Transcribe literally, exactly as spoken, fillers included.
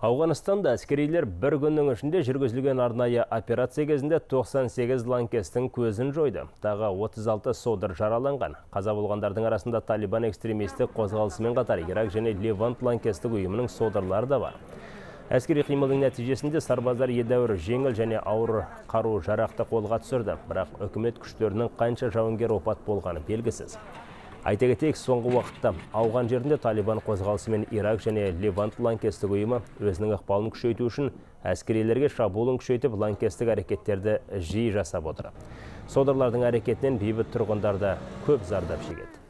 Ауғанстанда әскерилер бір күннің ішінде жүргізілген арнайы операция кезінде тоқсан сегіз лаңкестің көзін жойды. Тағы отыз алты содыр жараланған. Қаза болғандардың арасында Талибан экстремистік қозғалысымен қатар Ирак және Левант лаңкестік ұйымының содырлары да бар. Әскери қимылдың нәтижесінде сарбаздар едәуір жеңіл және ауыр қару жарақты қолға түсірді. Бірақ үкімет күштерінің қанша жауынгер опат болғаны белгісіз. Айта кетейік, соңғы уақытта ауған жерінде Талибан қозғалысы мен Ирак және Левант лаңкестік ұйымы өзінің ықпалын күшейту үшін әскерилерге шабуылын күшейтіп, лаңкестік әрекеттерді жиі жасап отыр. Содырлардың әрекетінен бейбіт тұрғындар да көп зардап шегеді.